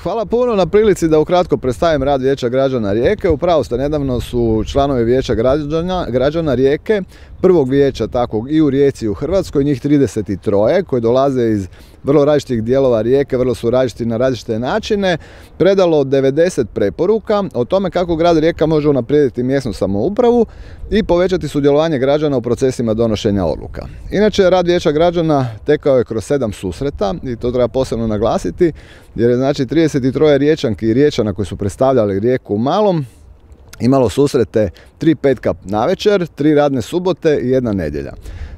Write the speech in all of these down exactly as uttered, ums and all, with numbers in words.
Hvala puno na prilici da ukratko predstavim rad Vijeća građana Rijeke. Upravo ste, nedavno su članovi Vijeća građana, građana Rijeke, prvog vijeća takvog i u Rijeci i u Hrvatskoj, njih trideset tri koji dolaze iz vrlo različitih dijelova Rijeke, vrlo su različiti na različite načine, predalo devedeset preporuka o tome kako grad Rijeka može unaprijediti mjesnu samoupravu i povećati sudjelovanje građana u procesima donošenja odluka. Inače, rad Vijeća građana tekao je kroz sedam susreta i to treba posebno naglasiti, jer je znači trideset tri Riječanki i Riječana koji su predstavljali Rijeku u malom imalo susrete tri petka navečer, tri radne subote i jedna nedjelja.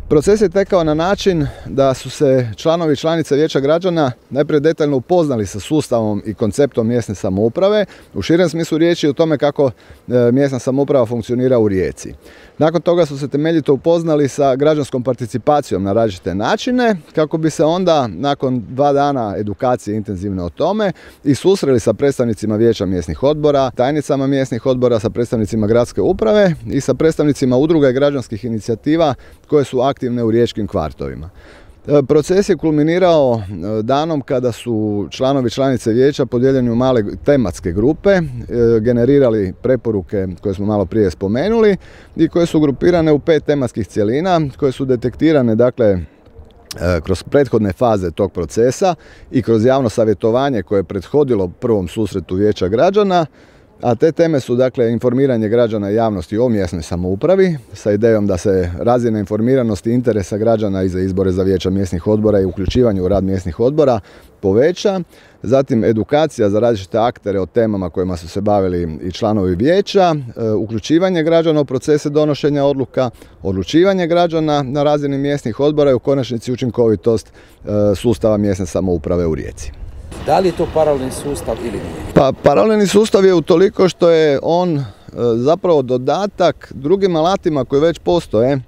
Proces je tekao na način da su se članovi i članice Vijeća građana najprije detaljno upoznali sa sustavom i konceptom mjesne samouprave, u širem smislu riječi o tome kako mjesna samouprava funkcionira u Rijeci. Nakon toga su se temeljito upoznali sa građanskom participacijom na različite načine, kako bi se onda nakon dva dana edukacije intenzivne o tome i susreli sa predstavnicima Vijeća mjesnih odbora, tajnicama mjesnih odbora, sa predstavnicima gradske uprave i sa predstavnicima udruga i građanskih inicijativa koje su aktivne u riječkim kvartovima. Proces je kulminirao danom kada su članovi članice vijeća podijeljeni u male tematske grupe, generirali preporuke koje smo malo prije spomenuli i koje su grupirane u pet tematskih cjelina koje su detektirane dakle kroz prethodne faze tog procesa i kroz javno savjetovanje koje je prethodilo prvom susretu Vijeća građana. A te teme su dakle informiranje građana i javnosti o mjesnoj samoupravi sa idejom da se razina informiranosti i interesa građana i za izbore za vijeća mjesnih odbora i uključivanje u rad mjesnih odbora poveća. Zatim edukacija za različite aktere o temama kojima su se bavili i članovi vijeća, uključivanje građana u procese donošenja odluka, odlučivanje građana na razini mjesnih odbora i u konačnici učinkovitost sustava mjesne samouprave u Rijeci. Da li je to paralelni sustav ili nije? Pa paralelni sustav je utoliko što je on e, zapravo dodatak drugim alatima koji već postoje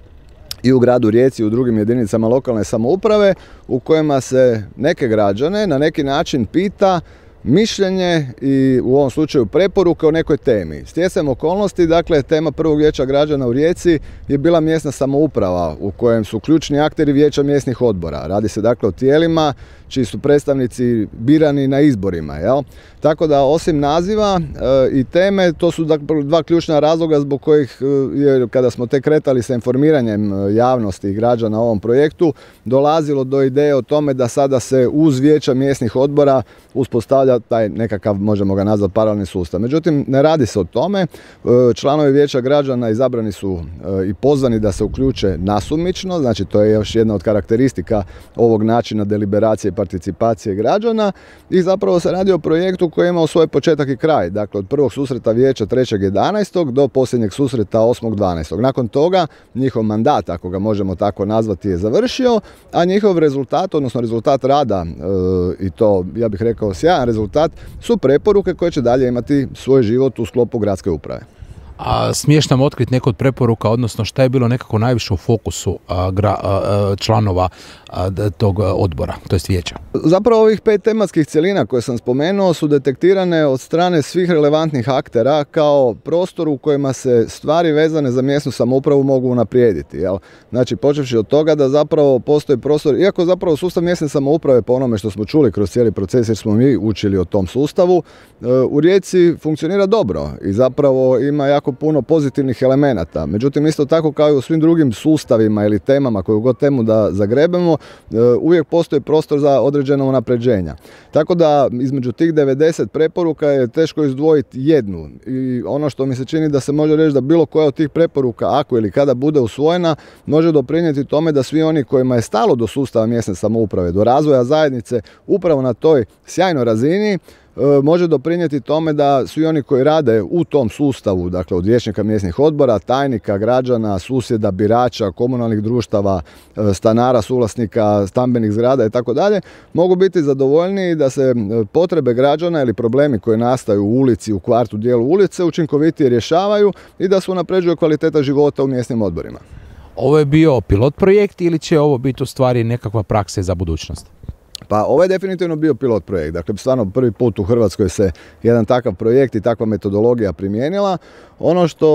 i u gradu Rijeci i u drugim jedinicama lokalne samouprave u kojima se neke građane na neki način pita mišljenje i u ovom slučaju preporuke o nekoj temi. Stjecajem okolnosti, dakle, tema prvog Vijeća građana u Rijeci je bila mjesna samouprava u kojem su ključni akteri Vijeća mjesnih odbora. Radi se dakle o tijelima čiji su predstavnici birani na izborima. Jel? Tako da osim naziva e, i teme, to su dakle dva ključna razloga zbog kojih je, kada smo tek kretali sa informiranjem javnosti i građana o ovom projektu, dolazilo do ideje o tome da sada se uz Vijeća mjesnih odbora uspostavlja taj nekakav, možemo ga nazvati, paralelni sustav. Međutim, ne radi se o tome. Članovi Vijeća građana izabrani su i pozvani da se uključe nasumično, znači to je još jedna od karakteristika ovog načina deliberacije i participacije građana i zapravo se radi o projektu koji je imao svoj početak i kraj. Dakle, od prvog susreta vijeća trećeg jedanaestog do posljednjeg susreta osmog dvanaestog Nakon toga njihov mandat, ako ga možemo tako nazvati, je završio, a njihov rezultat, odnosno rezultat rada e, i to, ja bih rekao, sjajan rezultat, su preporuke koje će dalje imati svoj život u sklopu gradske uprave. A smiješ nam otkriti neko od preporuka, odnosno šta je bilo nekako najviše u fokusu a, gra, a, članova a, tog odbora, to jest vijeća? Zapravo ovih pet tematskih cjelina koje sam spomenuo su detektirane od strane svih relevantnih aktera kao prostor u kojima se stvari vezane za mjesnu samoupravu mogu unaprijediti. Jel? Znači, počevši od toga da zapravo postoji prostor, iako zapravo sustav mjesne samouprave, po onome što smo čuli kroz cijeli proces jer smo mi učili o tom sustavu, u Rijeci funkcionira dobro i zapravo ima jako puno pozitivnih elemenata. Međutim, isto tako kao i u svim drugim sustavima ili temama koju god temu da zagrebemo, uvijek postoji prostor za određena unapređenja. Tako da između tih devedeset preporuka je teško izdvojiti jednu. I ono što mi se čini da se može reći da bilo koja od tih preporuka, ako ili kada bude usvojena, može doprinijeti tome da svi oni kojima je stalo do sustava mjesne samouprave, do razvoja zajednice upravo na toj sjajnoj razini, može doprinijeti tome da svi oni koji rade u tom sustavu, dakle od vijećnika mjesnih odbora, tajnika, građana, susjeda, birača, komunalnih društava, stanara, suvlasnika, stambenih zgrada i tako dalje, mogu biti zadovoljniji da se potrebe građana ili problemi koji nastaju u ulici, u kvartu, dijelu ulice učinkovitije rješavaju i da se unapređuje kvaliteta života u mjesnim odborima. Ovo je bio pilot projekt ili će ovo biti u stvari nekakva praksa za budućnost? Pa ovo je definitivno bio pilot projekt. Dakle, stvarno prvi put u Hrvatskoj se jedan takav projekt i takva metodologija primijenila. Ono što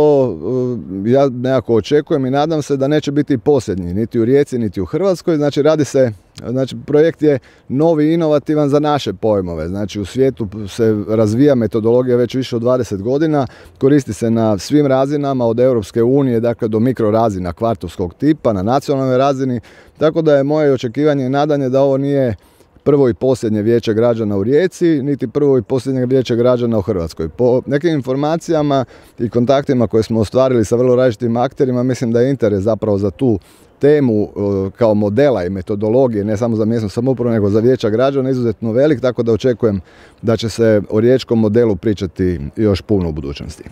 ja nekako očekujem i nadam se da neće biti posljednji, niti u Rijeci, niti u Hrvatskoj. Znači, radi se, znači, projekt je novi i inovativan za naše pojmove. Znači, u svijetu se razvija metodologija već više od dvadeset godina, koristi se na svim razinama, od Europske unije, dakle, do mikrorazina kvartovskog tipa, na nacionalnoj razini, tako da je moje očekivanje i nadanje da ovo nije prvo i posljednje vijeće građana u Rijeci, niti prvo i posljednje vijeće građana u Hrvatskoj. Po nekim informacijama i kontaktima koje smo ostvarili sa vrlo različitim akterima, mislim da je interes zapravo za tu temu kao modela i metodologije, ne samo za mjesnu samoupravu, nego za vijeća građana, izuzetno velik, tako da očekujem da će se o riječkom modelu pričati još puno u budućnosti.